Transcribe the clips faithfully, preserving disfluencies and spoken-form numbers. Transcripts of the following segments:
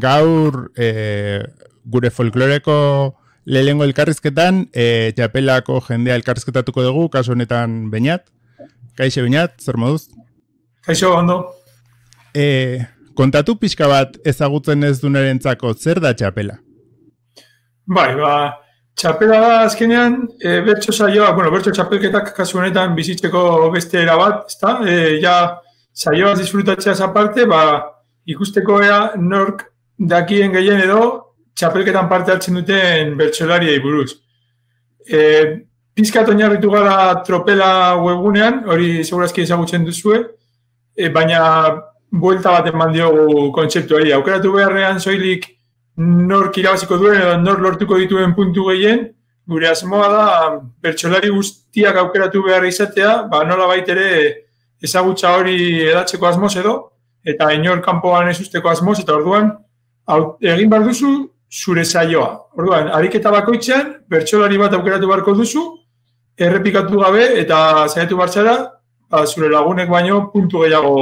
gaur e, gure folkloreko lehengo elkarrizketan e, txapelako jendea elkarrizketatuko dugu, kasu honetan Beñat. Kaixo Beñat, zer moduz? Kaixo, ondo. E, kontatu pixka bat ezagutzen ez dunarentzako, zer da txapela? Bai, ba, txapela da azkenean, e, bertso saioa, bueno, bertso txapelketak kasu honetan bizitzeko beste era bat, ezta? E, ja, saioa disfrutatzeaz aparte, ba, ikusteko ea nork dakien gehien edo txapelketan parte hartzen duten bertsolariei buruz. E, Pizkat oinarritu gara Tropela webgunean, hori segurazki ezagutzen duzue, e, baina buelta bat eman diogu kontzeptuari. Aukeratu beharrean soilik nork irabaziko duen edo nork lortuko dituen puntu gehien, gure asmoa da bertsolari guztiak aukeratu behar izatea, ba nola baitere ezagutza hori edatzeko asmoz edo, eta inor kanpoan ez usteko asmoz, eta orduan egin behar duzu zure saioa. Orduan, ariketa bakoitzean, bertsolari bat aukeratu beharko duzu, errepikatu gabe eta saiatu bartzara, ba, zure lagunek baino puntu gehiago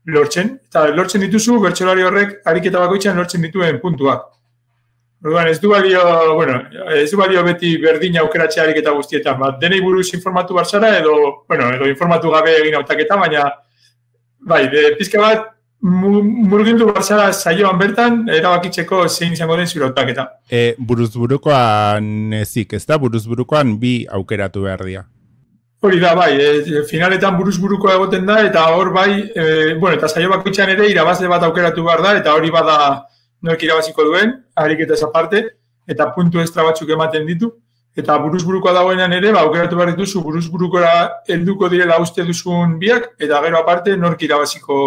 lortzen. Eta lortzen dituzu, bertsolari horrek ariketa bakoitzean lortzen dituen puntuak. Orduan, ez du balio, bueno, ez du balio beti berdina aukeratzea ariketa guztietan. Ba, denei buruz informatu bartzara edo, bueno, edo informatu gabe egin hautaketa, baina bai, de, pizka bat murgildu barzara saioan bertan, erabakitzeko zein izango den zure hautaketa. E, buruzburukoan ezik, ez da? Buruzburukoan bi aukeratu behar dira. Hori da, bai, e, finaletan buruzburukoa egoten da, eta hor bai, e, bueno, eta saio bakoitzean ere irabazle bat aukeratu behar da, eta hori bada nork irabaziko duen, ariketa ez aparte, eta puntu extra batzuk ematen ditu. Eta buruzburukoa dagoenan ere, ba, aukeratu behar dituzu, buruzburukora helduko direla uste duzun biak, eta gero aparte nork irabaziko,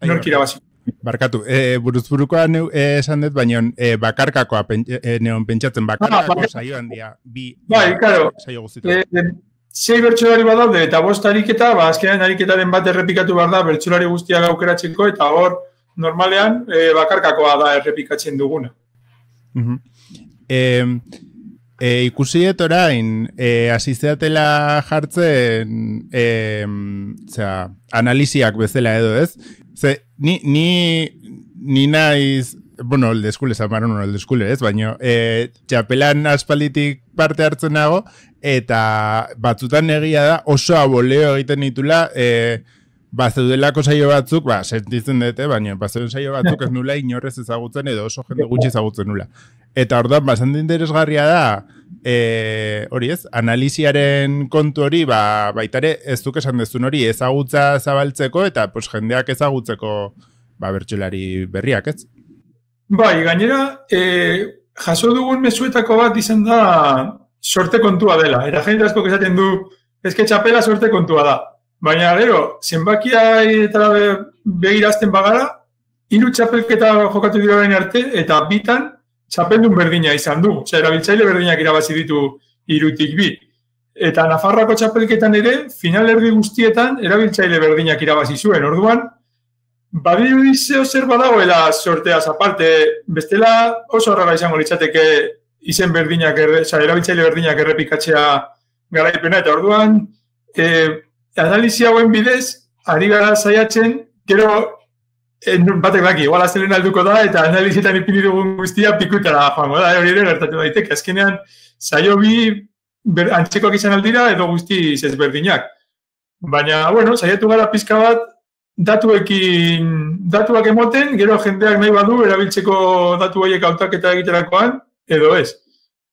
nork irabaziko. Barkatu, e, buruzburukoa e, esan dut, baina e, bakarkakoa pen, e, neon pentsatzen, bakarkako ah, saioan dira, bi bai, claro. Saio guztitu. E, sei bertsolari badaude, eta bost ariketa, ba, azkenean ariketaren bat errepikatu behar da, bertsolari guztiak aukeratzeko, eta hor, normalean, e, bakarkakoa da errepikatzen duguna. Uh-huh. E, E, ikusiet orain, e, asisteatela jartzen e, zera, analiziak bezala edo ez. Ze, ni, ni, ni naiz, bueno, el de skule, zamaron el de skule ez, baina e, txapelan aspalditik parte hartzen nago, eta batzutan egia da oso aboleo egiten ditula, e, bazeudelako saio batzuk, ba, sentitzen dute, baina bazeuden saio batzuk ez nula inorrez ezagutzen edo oso jende gutxi ezagutzen nula. Eta orduan, bastante interesgarria da, e, hori ez, analiziaren kontu hori, ba, baitare ez duk esan dezun hori, ezagutza zabaltzeko eta pues, jendeak ezagutzeko ba, bertsolari berriak, ez? Bai, gainera, e, jaso dugun mezuetako bat izan da sorte kontua dela. Era jende asko esaten du, eske txapela sorte kontua da. Baina gero, zenbakia eta begirazten bagara, hiru txapelketa jokatu dira orain arte, eta bitan txapeldun berdina izan du. Osea, erabiltzaile berdinak irabazi ditu hirutik bi. Eta Nafarroako txapelketan ere, finalerdi guztietan erabiltzaile berdinak irabazi zuen. Orduan, badirudi zeo zer badagoela sorteaz aparte, bestela oso horrela izango litzateke izen berdinak, osea, erabiltzaile berdinak errepikatzea garaipena. Eta orduan, e, analizia hauen bidez, ari gara saiatzen, gero batek daki, igual aztelen alduko da, eta analizietan ipini dugun guztia pikutara joango da, hori ere gertatu daiteke. Azkenean, saio bi ber, antzekoak izan aldira, edo guzti ezberdinak. Baina, bueno, saiatu gara pizka bat, datuekin, datuak emoten, gero jendeak nahi badu, erabiltzeko datu horiek hautaketa egiterakoan, edo ez.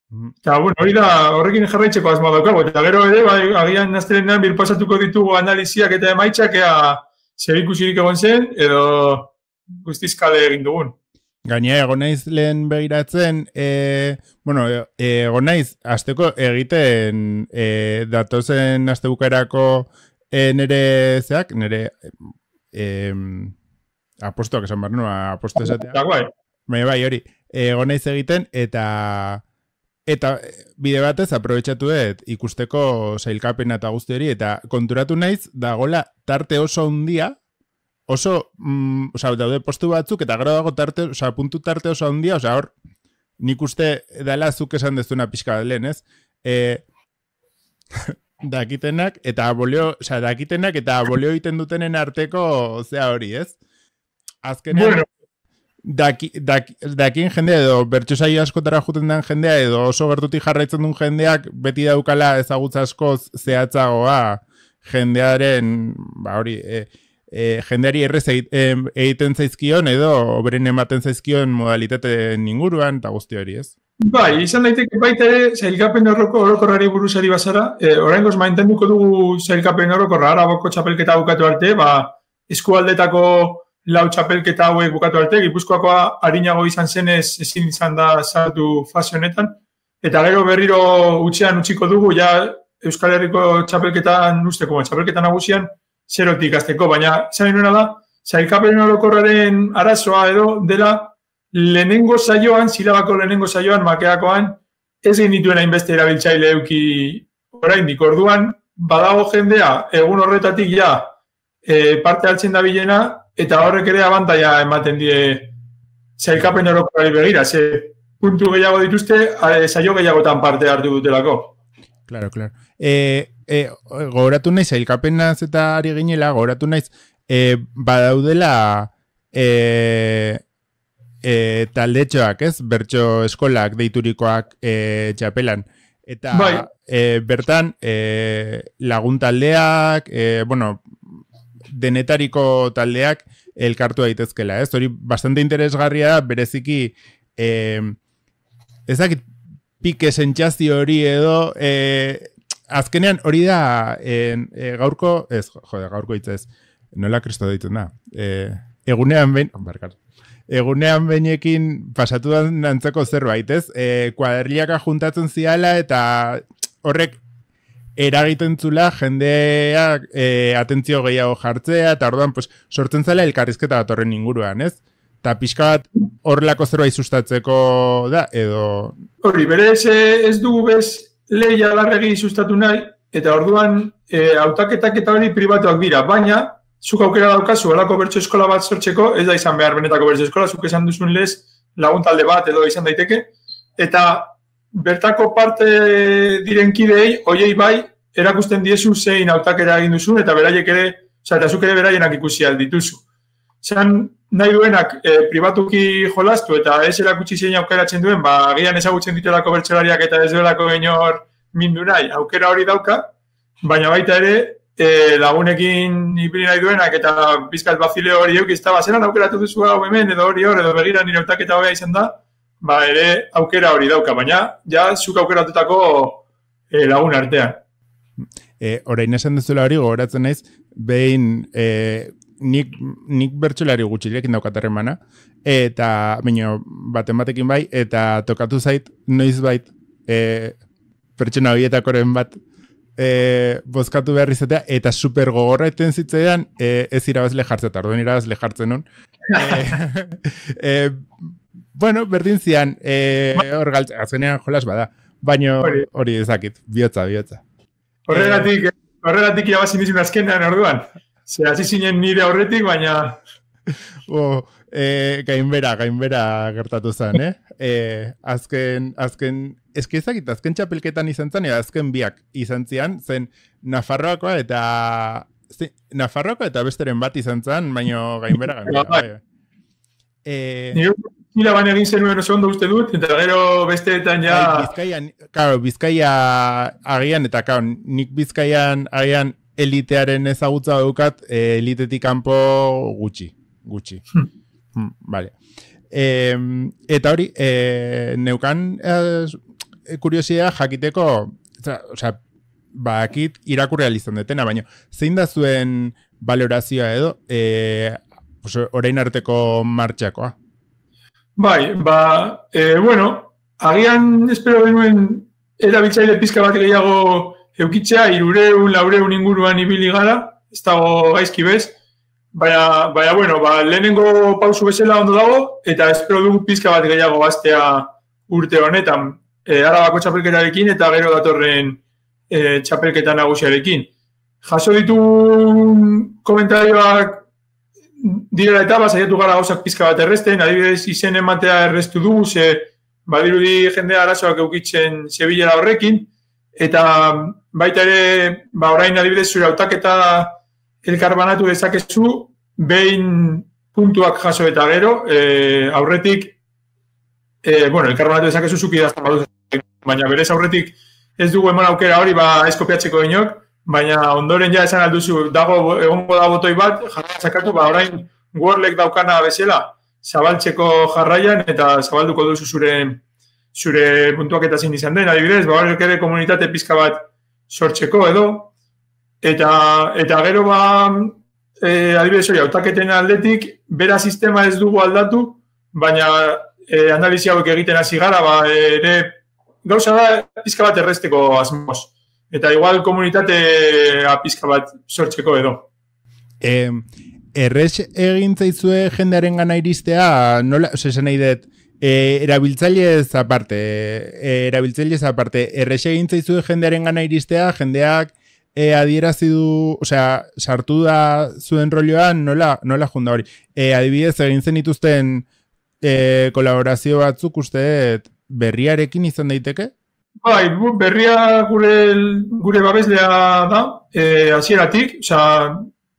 Eta, bueno, hori da, horrekin jarraitzeko asmoa daukago. Eta gero ere, bai, agian astelenean birpasatuko ditugu analiziak eta emaitzak ea zer ikusirik egon zen, edo guztizkale egin dugun. Gainea, egon naiz lehen begiratzen, e, bueno, egon naiz, azteko egiten e, datozen astebukarako e, nere zeak, nere e, apostoak esan behar, no, aposto esatea. Bai, bai, hori, egon naiz egiten, eta Eta bide batez aprobetxatu dut ikusteko sailkapena eta guzti hori, eta konturatu naiz dagola tarte oso handia, oso, mm, oza, daude postu batzuk, eta gero dago tarte, oza, puntu tarte oso handia, oza, hor, nik uste dela zuk esan dezuna pixka bat lehen, ez? E, dakitenak, eta abolio, oza, dakitenak, eta abolio egiten dutenen arteko, zea hori, ez? Azkenean, bueno. daki, daki, dakin jendea edo bertsosaio askotara juten den jendea edo oso gertutik jarraitzen duen jendeak beti daukala ezagutza askoz zehatzagoa jendearen, ba hori, e, e, jendeari errez egiten zaizkion edo oberen ematen zaizkion modalitateen inguruan eta guzti hori, ez? Bai, izan daiteke baita ere, zailkapen orokorrari buruzari bazara, e, oraingoz mantenduko dugu zailkapen orokorra, Arabako txapelketa bukatu arte, ba, eskualdetako lau txapelketa hauek bukatu arte, Gipuzkoakoa arinago izan zenez ezin izan da sartu fase honetan, eta gero berriro utxean utziko dugu, ja Euskal Herriko txapelketan usteko, txapelketan nagusian, zerotik azteko, baina zain nuena da, zailkapen orokorraren arazoa edo dela, lehenengo saioan, silabako lehenengo saioan, makeakoan, ez genituen hainbeste erabiltzaile euki oraindik orduan, badago jendea, egun horretatik ja, e, parte hartzen da bilena, eta horrek ere abantaia ematen die zailkapen orokorari begira, ze puntu gehiago dituzte, saio gehiagotan parte hartu dutelako. Claro, claro. E, e, gogoratu naiz, zailkapenaz eta ari ginela, gogoratu naiz, e, badaudela, e, E, taldetxoak, ez? Bertso eskolak deiturikoak e, txapelan. Eta bai. e, bertan e, lagun taldeak, e, bueno, denetariko taldeak elkartu daitezkela, ez? Hori bastante interesgarria da, bereziki e, ezakit pike sentsazio hori edo e, azkenean hori da e, e, gaurko, ez, jode, gaurko hitz ez, nola kristo deitzen da, e, egunean behin, barkatu. Egunean behinekin pasatu nantzeko zerbait, ez? E, kuaderliaka juntatzen ziala eta horrek eragiten zula jendeak e, atentzio gehiago jartzea eta orduan pues, sortzen zela elkarrizketa bat horren inguruan, ez? Eta pixka bat horrelako zerbait sustatzeko da, edo... Hori, berez ez dugu bez lehia larregi sustatu nahi, eta orduan e, hautaketak eta hori pribatuak dira, baina zuk aukera daukazu, alako bertso eskola bat sortzeko, ez da izan behar benetako bertso eskola, zuk esan duzun lez lagun talde bat edo izan daiteke, eta bertako parte diren kidei, hoiei bai, erakusten diezu zein hautakera egin duzun, eta beraiek ere, oza, eta zuk ere beraienak ikusi aldituzu. Zan nahi duenak e, pribatuki jolastu eta ez erakutsi zein aukeratzen duen, ba, agian ezagutzen dituelako bertsolariak eta ez duelako gainor mindu nahi, aukera hori dauka, baina baita ere, E, lagunekin ibili nahi duenak eta bizkat bazile hori eukizta, ba, zelan aukeratu duzu hau hemen edo hori hor, edo begira nire hautaketa hobea izan da, ba, ere aukera hori dauka, baina ja zuk aukeratutako e, lagun artean. E, orain esan duzula hori gogoratzen naiz, behin e, nik, nik bertsolari gutxilekin daukatarren mana, eta baina baten batekin bai, eta tokatu zait, noiz bait, e, pertsona horietakoren bat, E, bozkatu behar izatea, eta super gogorra eten zitzaidan, e, ez irabazle jartzen, eta orduan irabazle jartzen nun. e, e, bueno, berdin zian, e, hor galtzen, azkenean jolas bada, baina hori ezakit, bihotza, bihotza. Horregatik, e, horregatik irabazin dizun azkenean orduan. Ze hasi zinen nire aurretik, baina... Oh, e, gainbera, gainbera gertatu zen, eh? E, azken, azken, eski ezakit, azken txapelketan izan zen, eta azken biak izan zian, zen Nafarroakoa eta zi, Nafarroakoa eta besteren bat izan zen, baina gainbera, gainbera. Bai. E, Nire Nila baina egin zenuen oso ondo uste dut, eta gero besteetan ja... Bizkaian, claro, Bizkaia agian, eta claro, nik Bizkaian agian elitearen ezagutza dukat, elitetik kanpo gutxi, gutxi. Hmm. Hmm, vale. E, eta hori, e, neukan e, kuriosia jakiteko, osea, bakit irakurri izan detena, baina zein da zuen valorazioa edo, e, orain arteko martxakoa? Bai, ba, e, bueno, agian espero benuen erabiltzaile pizka bat gehiago eukitzea, irureun, laureun inguruan ibili gara, ez dago gaizki bez, baina, baina, bueno, ba, lehenengo pausu bezala ondo dago, eta espero dugu pizka bat gehiago gaztea urte honetan, e, Arabako txapelketarekin eta gero datorren e, txapelketa nagusiarekin. Jaso ditun komentarioak direla eta saiatu gara gauzak pizka bat erresten, adibidez izen ematea errestu dugu, ze badirudi jendea arazoak eukitzen Sevilla horrekin, eta baita ere, ba orain adibidez zure hautaketa elkarbanatu dezakezu, behin puntuak jaso eta gero, e, aurretik, e, bueno, elkarbanatu dezakezu zuki idazten baduz, baina berez aurretik ez dugu eman aukera hori, ba, ez kopiatzeko inok, baina ondoren ja esan alduzu, dago, egongo da botoi bat, jarraian zakatu, ba, orain Wordlek daukana bezala, zabaltzeko jarraian, eta zabalduko duzu zure, zure puntuak eta zin izan den, adibidez, ba, horrek ere komunitate pizka bat sortzeko edo, eta, eta gero ba, e, adibidez hori, hautaketen aldetik, bera sistema ez dugu aldatu, baina e, analizi hauek egiten hasi gara, ba, ere, gauza da, pizka bat erresteko asmoz. Eta igual komunitatea pizka bat sortzeko edo. Eh, errez egin zaizue jendearen gana iristea, nola, esan nahi dut, eh, erabiltzailez aparte, eh, erabiltzailez aparte, errez egin zaizue jendearen gana iristea, jendeak eh, adierazi du, osea, sartu da zuen rolloan, nola, nola junda hori. Eh, adibidez, egin zen ituzten eh, kolaborazio batzuk uste berriarekin izan daiteke? Bai, berria gure, gure babeslea da, e, hasieratik, osea,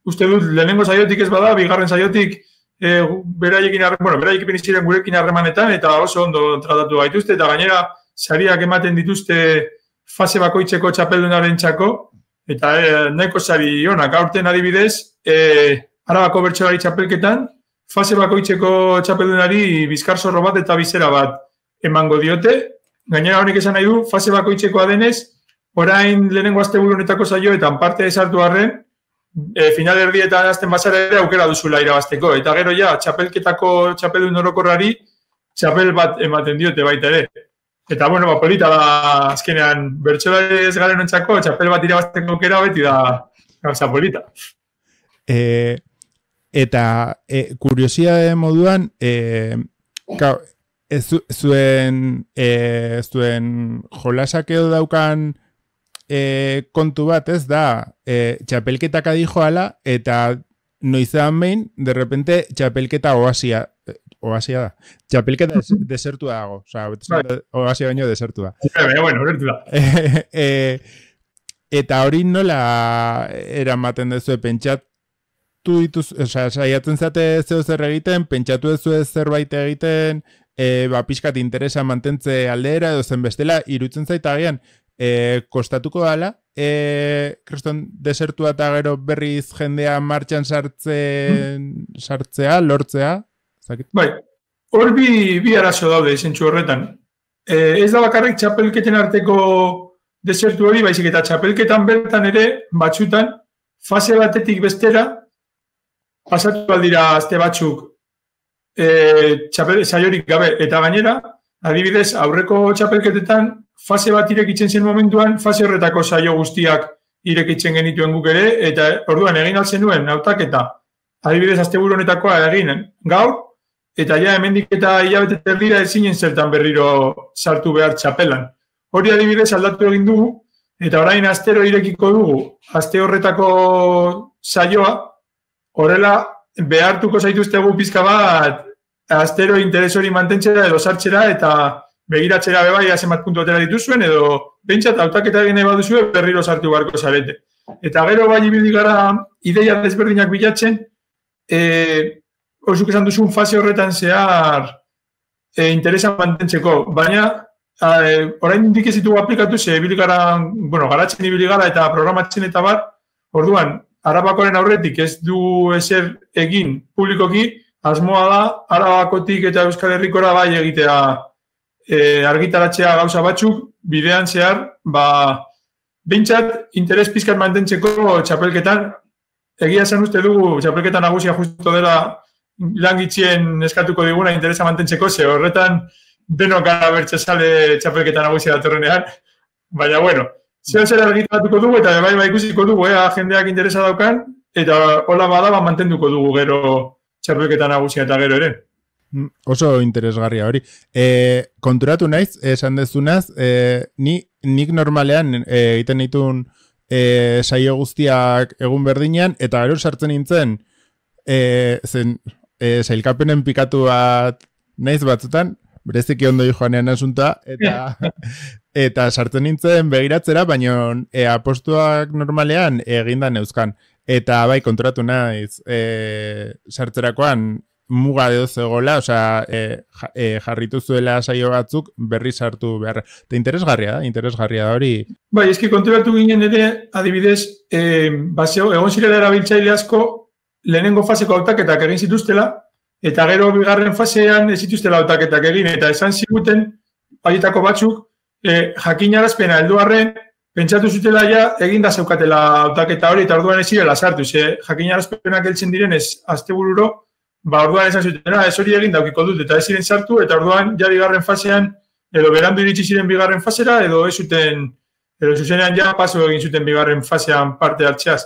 uste dut lehenengo saiotik ez bada, bigarren saiotik e, beraiekin harreman, bueno, beraiekin ziren gurekin harremanetan, eta oso ondo tratatu gaituzte, eta gainera sariak ematen dituzte fase bakoitzeko txapeldunaren txako, eta e, nahiko sari onak, aurten adibidez, e, Arabako bertsolari txapelketan, fase bakoitzeko txapeldunari bizkar zorro bat eta bizera bat emango diote. Gainera honek esan nahi du, fase bakoitzekoa denez, orain lehenengo asteburu honetako saioetan parte esartu arren, e, final erdietan azten bazara ere aukera duzula irabazteko. Eta gero ja, txapelketako txapeldun orokorrari, txapel bat ematen diote baita ere. Eta bueno, ba, polita da azkenean bertsolari ez garen ontzako, txapel bat irabazteko aukera beti da gauza polita. E, eta e, kuriosidade moduan, e, ka, Ez zuen, e, zuen jolasak edo daukan e, kontu bat ez da, e, txapelketak adijoala eta noizean behin, de repente txapelketa oasia, oasia da, txapelketa des, desertu dago, oza, oasia baino desertu da. Baina, bueno, horretu da. E, e, eta hori nola eramaten dezue pentsatu dituz, oza, saiatzen zate zeo zer egiten, pentsatu dezue zerbait egiten, E, ba, pixkat interesa mantentze aldera edo zen bestela, irutzen zaita agian, e, kostatuko dala, e, kriston desertua eta gero berriz jendea martxan sartzen, sartzea, lortzea? Zakit? Bai, hor bi, bi arazo daude zentsu horretan. E, ez da bakarrik txapelketen arteko desertu hori, baizik eta txapelketan bertan ere, batzutan, fase batetik bestera, pasatu aldira azte batzuk, E, txapel, saiorik gabe, eta gainera, adibidez, aurreko txapelketetan, fase bat irekitzen zen momentuan, fase horretako saio guztiak irekitzen genituen guk ere, eta orduan egin altzen nuen, nautaketa, adibidez, asteburu honetakoa egin gaur, eta ja hemendik eta hilabete erdira ezinen zertan berriro sartu behar txapelan. Hori adibidez aldatu egin dugu, eta orain astero irekiko dugu, aste horretako saioa, horrela, behartuko zaituztegu pizka bat astero interes hori mantentzera edo sartzera eta begiratzera bebai zenbat puntu atera dituzuen edo behintzat hautaketa egin nahi baduzue berriro sartu beharko zarete. Eta gero bai ibili gara ideia desberdinak bilatzen, e, orzuk esan duzun fase horretan zehar e, interesa mantentzeko, baina e, orain indik ez ditugu aplikatu ze ibili gara, bueno, garatzen ibili gara eta programatzen eta bar, orduan, Arabakoren aurretik ez du ezer egin publikoki, asmoa da, Arabakotik eta Euskal Herrikora bai egitea e, argitaratzea gauza batzuk, bidean zehar, ba, behintzat, interes pizkat mantentzeko txapelketan, egia esan uste dugu, txapelketan nagusia justo dela langitzien eskatuko diguna interesa mantentzeko, ze horretan denok gara bertxasale txapelketan nagusia datorrenean, baina bueno, zeo zer argitaratuko dugu eta bai bai ikusiko dugu, eh, jendeak interesa daukan, eta hola badaba mantenduko dugu gero txapelketa nagusia eta gero ere. Oso interesgarria hori. E, konturatu naiz, esan dezunaz, e, ni, nik normalean e, egiten ditun e, saio guztiak egun berdinean, eta gero sartzen nintzen, e, zen, e, sailkapenen pikatu bat naiz batzutan, bereziki ondo joanean asunta, eta eta sartzen nintzen begiratzera, baina e, apostuak normalean egindan euskan. Eta bai, konturatu naiz, e, sartzerakoan muga edo zegoela, osea, e, e, jarritu zuela saio batzuk berri sartu behar. Eta interesgarria da, interesgarria da hori. Bai, eski konturatu ginen ere, adibidez, e, baseo, egon zirela erabiltzaile asko, lehenengo faseko hautaketak egin zituztela, eta gero bigarren fasean ez zituztela hautaketak egin, eta esan ziguten, haietako batzuk, e, jakinarazpena heldu arren, pentsatu zutela ja, eginda zeukatela hautaketa hori, eta orduan ez zirela sartu, ze jakinarazpenak heltzen direnez, astebururo, ba orduan esan zutena, ez hori egin daukiko dut, eta ez ziren sartu, eta orduan ja bigarren fasean, edo berandu iritsi ziren bigarren fasera, edo ez zuten, edo zuzenean ja paso egin zuten bigarren fasean parte hartzeaz.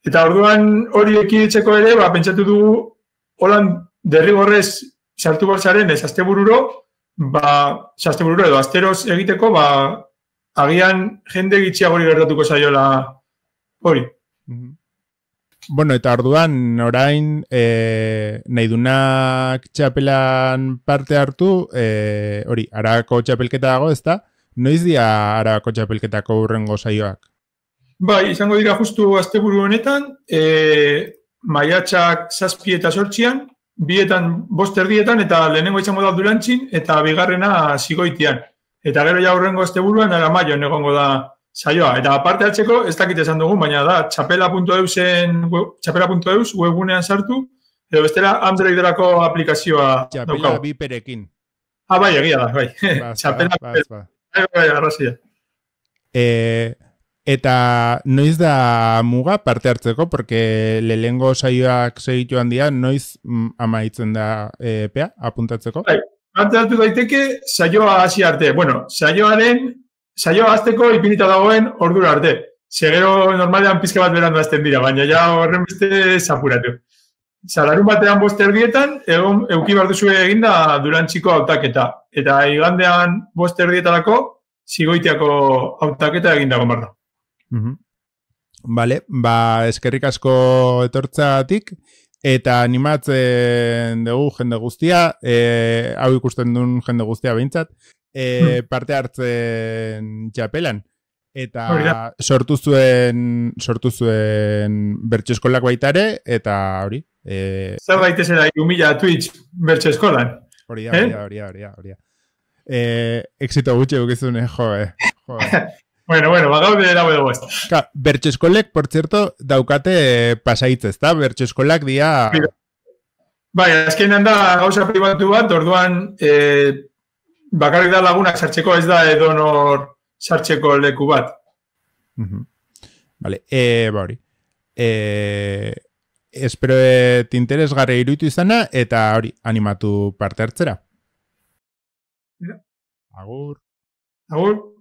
Eta orduan hori ekiditzeko ere, ba, pentsatu dugu, holan derrigorrez sartu barzaren ez astebururo, ba, astebururo edo asteroz egiteko, ba, agian jende gitxiagori gertatuko zaiola hori. Bueno, eta orduan, orain, e, nahi dunak txapelan parte hartu, e, hori, Arabako txapelketa dago, ez da? Noiz dia Arabako txapelketako urrengo saioak? Bai, izango dira justu asteburu honetan, e, maiatxak zazpi eta sortzian, bietan bost erdietan, eta lehenengo izango da Durantzin, eta bigarrena Zigoitian. Eta gero ja urrengo asteburuan Aramaion egongo da saioa. Eta parte hartzeko, ez dakit esan dugun, baina da txapela puntu eusen, txapela puntu eus webgunean sartu, edo bestela Androiderako aplikazioa Txapela daukagu. biperekin. Ah, bai, egia da, bai. Txapela biperekin. Bai, bai, arrazia. E, eta noiz da muga parte hartzeko, porque lehengo saioak segitu handia, noiz mm, amaitzen da e, epea, apuntatzeko? Bai. Parte hartu daiteke saioa hasi arte. Bueno, saioaren, saioa hasteko ipinita dagoen ordura arte. Segero normalean pizka bat berandu hasten dira, baina ja horren beste zapuratu. Zalarun batean bost erdietan, egon euki behar duzue eginda Durantziko hautaketa. Eta igandean bost erdietarako Zigoitiako hautaketa egindago marra. Uh-huh. Vale, ba, eskerrik asko etortzatik. Eta animatzen dugu jende guztia, e, hau ikusten duen jende guztia behintzat, e, parte hartzen txapelan. Eta sortu zuen, sortu zuen bertso eskolak baitare, eta hori. E, Zer daitezela humila Twitch bertso eskolan? Hori da, hori da, hori da, hori da, hori da. E, exito gutxe gukizun, eh, jo, eh, jo, eh. Bueno, bueno, bagaude dago dugu ez. Bertso eskolek, por cierto, daukate pasaitz, ez da? Bertso eskolak dia... Bai, azkenean da gauza pribatu bat, orduan eh, bakarrik da lagunak sartzeko, ez da edonor sartzeko leku bat. Uh-huh. Vale, e, ba hori. E, espero et interesgarri iruditu izana, eta hori, animatu parte hartzera. Ja. Agur. Agur.